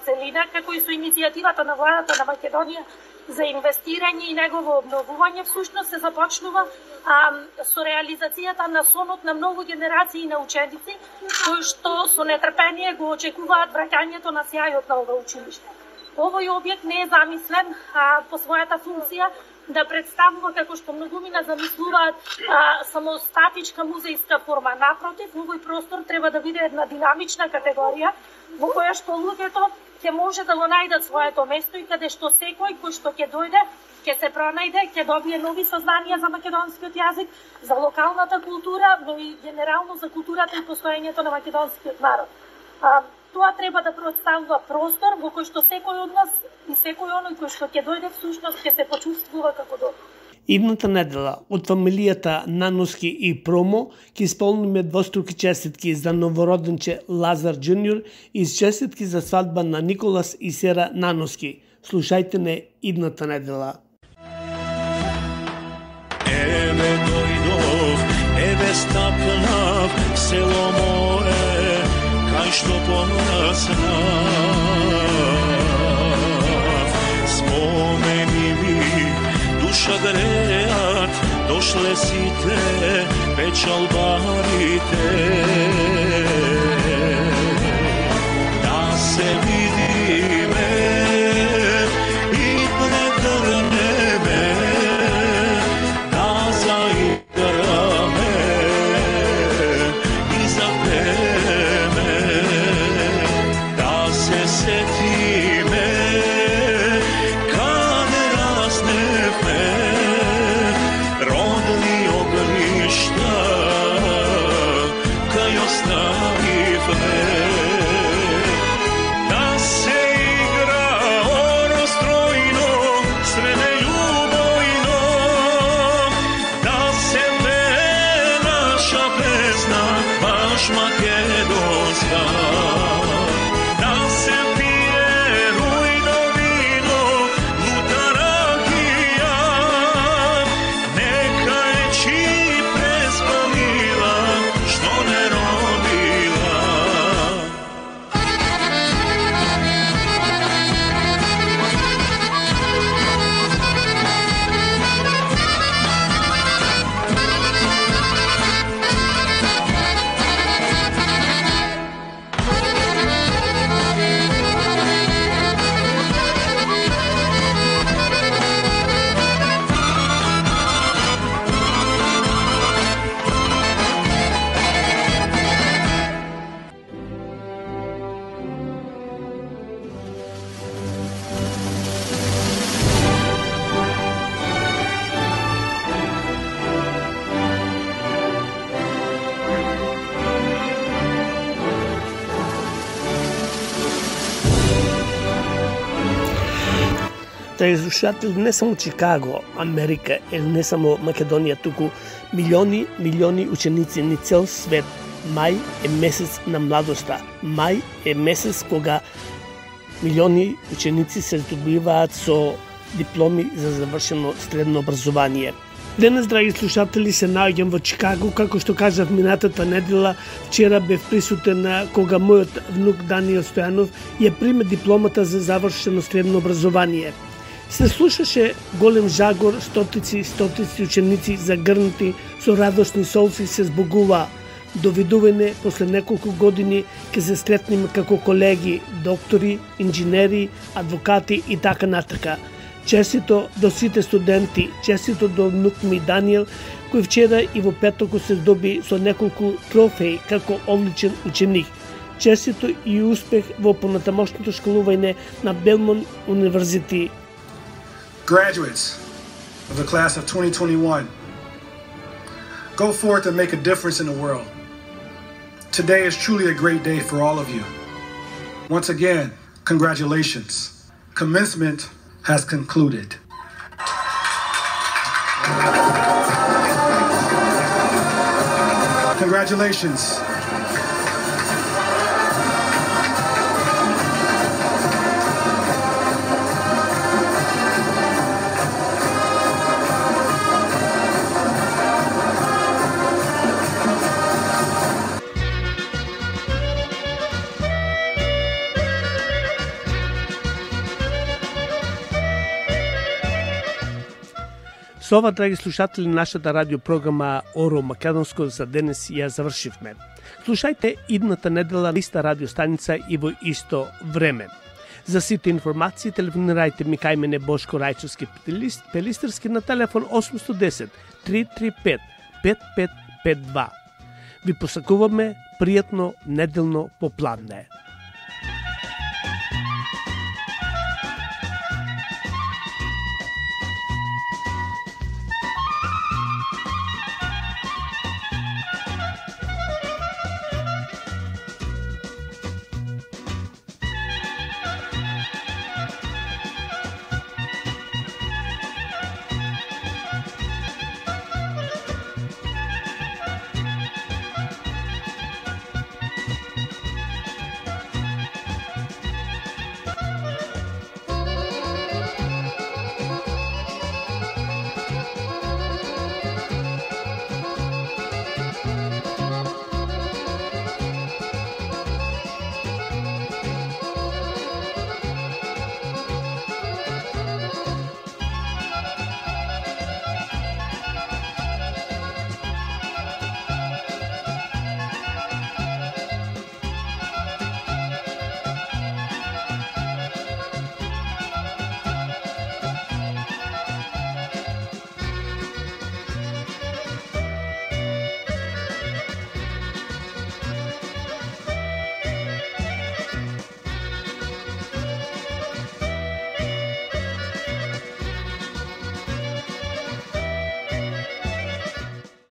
целина, како и со иницијативата на владата на Македонија за инвестирање и негово обновување, всушност се започнува а, со реализацијата на сонот на многу генерации на ученици, кои што со нетрпение го очекуваат враќањето на сјајот на ова училиште. Овој објект не е замислен а, по својата функција да представува, како што многумина замислуваат, а, самостатичка музејска форма. Напротив, овој простор треба да биде една динамична категорија во која што луѓето ќе може да го најдат своето место и каде што секој кој што ќе дојде, ќе се пронајде, ќе добие нови сознанија за македонскиот јазик, за локалната култура, но и генерално за културата и постоењето на македонскиот народ. А, Тоа треба да представува простор во кој што секој од нас и секој оној кој што ќе дојде всушност ќе се почувствува како дома. Идната недела од фамилијата Наноски и Промо ќе исполниме двоструки честитки за новороденче Лазар Джуниор и честитки за свадба на Николас и Сера Наноски. Слушајте не идната недела. Еве дојдов, еве стапнав, село мое, кај што помраснав. Спомени ми, душа греат, дошле сите печалбарите. Да се видиме и прегрнеме, да заиграме и запеме, да се сетиме каде разневме родни огништа кај оставивме. Да се игра оростројно, среде љубојно, да се пее наша песна, баш македонска. Да се пие рујно вино, лута ракија, Драги слушатели, не само Чикаго, Америка или не само Македонија, туку милиони, милиони ученици ни цел свет. Мај е месец на младоста. Мај е месец кога милиони ученици се здобиваат со дипломи за завршено средно образование. Денес, драги слушатели, се наоѓам во Чикаго, како што кажав минатата недела. Вчера бев присутен кога мојот внук Даниел Стојанов ја приме дипломата за завршено средно образование. Се слушаше голем жагор, стотици, стотици ученици загрнати со радосни солци се збогува. Довидување после неколку години ќе се сретнеме како колеги, доктори, инженери, адвокати и така натака. Честито до сите студенти, честито до внук ми Даниел, кој вчера и во петоко се здоби со неколку трофеи како одличен ученик. Честито и успех во понатамошното школување на Белмонт Универзити. Graduates of the class of twenty twenty-one, go forth and make a difference in the world. Today is truly a great day for all of you. Once again, congratulations. Commencement has concluded. Congratulations. Со ова, драги слушатели, нашата радиопрограма Оро Македонско за денес ја завршивме. Слушајте идната недела на иста радиостаница и во исто време. За сите информации телефонирајте ми кај мене Бошко Рајчовски Пелистерски на телефон осум едно десет три три пет пет пет пет два. Ви посакуваме пријатно неделно попладне.